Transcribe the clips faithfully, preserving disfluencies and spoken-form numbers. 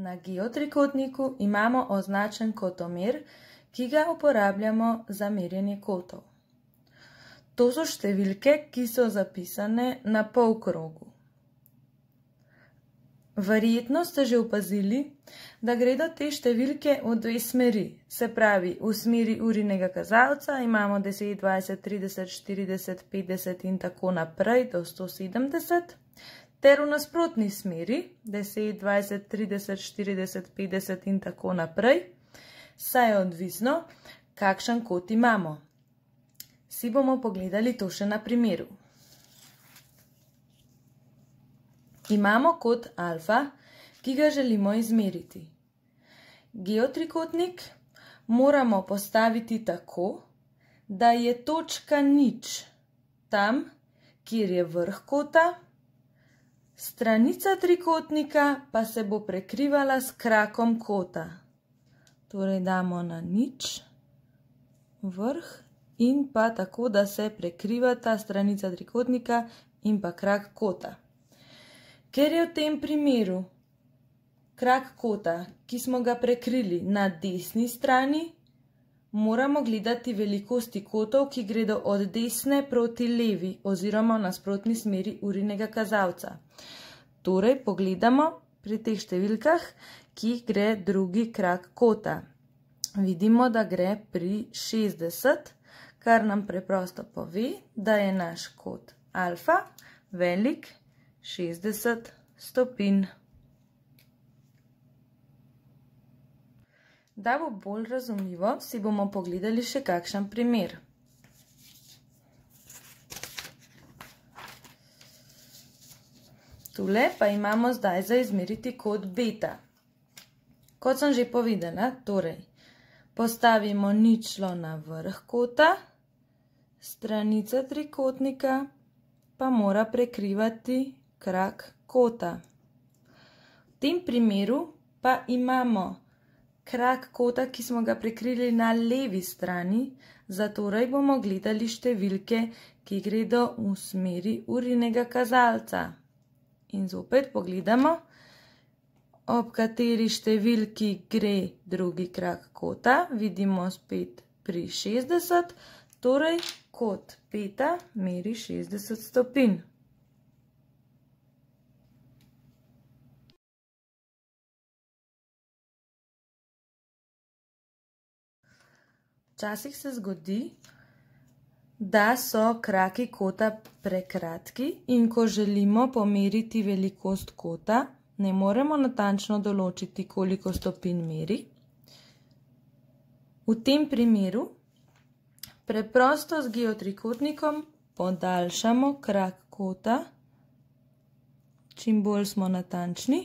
Na geotrikotniku imamo označen kotomer, ki ga uporabljamo za merjenje kotov. To so številke, ki so zapisane na polkrogu. Verjetno ste že opazili, da gredo te številke v dve smeri. Se pravi, v smeri urinega kazalca imamo deset, dvajset, trideset, štirideset, petdeset in tako naprej do sto sedemdeset, ter v nasprotni smeri deset, dvajset, trideset, štirideset, petdeset in tako naprej, saj je odvisno, kakšen kot imamo. Si bomo pogledali to še na primeru. Imamo kot alfa, ki ga želimo izmeriti. Geotrikotnik moramo postaviti tako, da je točka nič tam, kjer je vrh kota, stranica trikotnika pa se bo prekrivala s krakom kota. Torej damo na nič vrh in pa tako, da se prekriva ta stranica trikotnika in pa krak kota. Ker je v tem primeru krak kota, ki smo ga prekrili na desni strani, moramo gledati velikosti kotov, ki gredo od desne proti levi oziroma v nasprotni smeri urinega kazalca. Torej pogledamo pri teh številkah, ki gre drugi krak kota. Vidimo, da gre pri šestdeset, kar nam preprosto pove, da je naš kot alfa velik šestdeset stopinj. Da bo bolj razumljivo, si bomo pogledali še kakšen primer. Tule pa imamo zdaj za izmeriti kot beta. Kot sem že povedala, torej postavimo ničlo na vrh kota, stranica trikotnika pa mora prekrivati krak kota. V tem primeru pa imamo krak kota, ki smo ga prekrili na levi strani, zatorej bomo gledali številke, ki gredo v smeri urinega kazalca. In zopet pogledamo, ob kateri številki gre drugi krak kota, vidimo spet pri šestdeset, torej kot beta meri šestdeset stopinj. Včasih se zgodi, da so kraki kota prekratki in ko želimo pomeriti velikost kota, ne moremo natančno določiti, koliko stopinj meri. V tem primeru preprosto z geotrikotnikom podaljšamo krak kota, čim bolj smo natančni,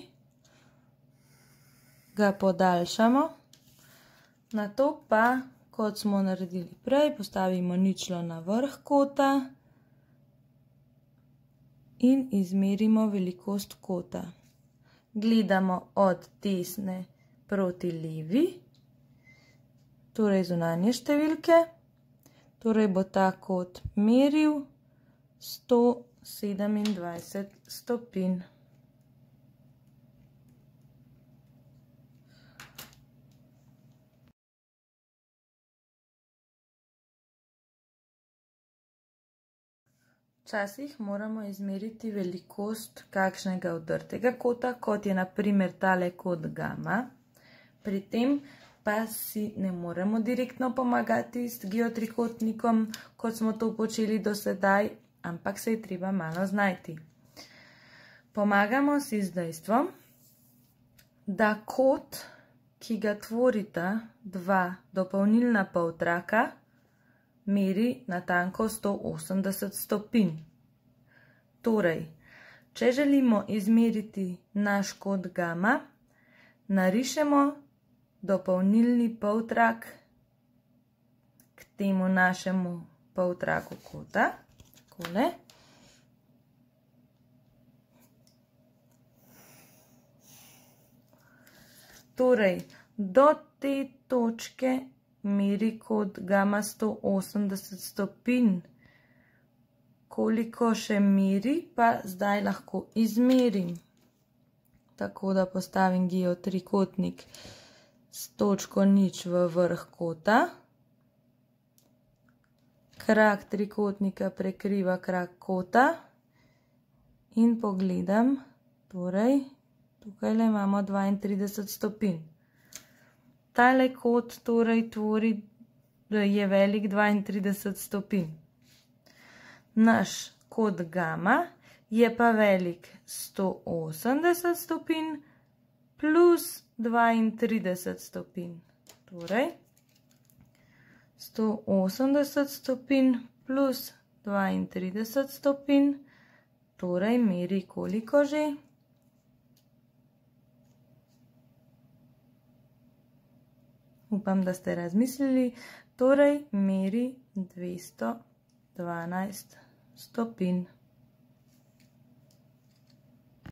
ga podaljšamo, nato pa, kot smo naredili prej, postavimo ničlo na vrh kota in izmerimo velikost kota. Gledamo od desne proti levi, torej zunanje številke, torej bo ta kot meril sto sedemindvajset stopinj. Včasih moramo izmeriti velikost kakšnega odrtega kota, kot je na primer tale kot gama. Pri tem pa si ne moremo direktno pomagati s geotrikotnikom, kot smo to počeli do sedaj, ampak se je treba malo znajti. Pomagamo si z dejstvom, da kot, ki ga tvorita dva dopolnilna poltraka, meri natanko sto osemdeset stopinj. Torej, če želimo izmeriti naš kot gama, narišemo dopolnilni poltrak k temu našemu poltraku kota, takole. Torej, do te točke meri kot gama sto osemdeset stopinj. Koliko še meri, pa zdaj lahko izmerim. tako da postavim geotrikotnik s točko nič v vrh kota. Krak trikotnika prekriva krak kota in pogledam, torej tukaj imamo dvaintrideset stopinj. Tale kot torej tvori, je velik dvaintrideset stopinj. Naš kot gama je pa velik sto osemdeset stopinj plus dvaintrideset stopinj. Torej, sto osemdeset stopinj plus dvaintrideset stopinj, torej meri koliko že? Upam, da ste razmislili, torej meri dvesto dvanajst stopinj.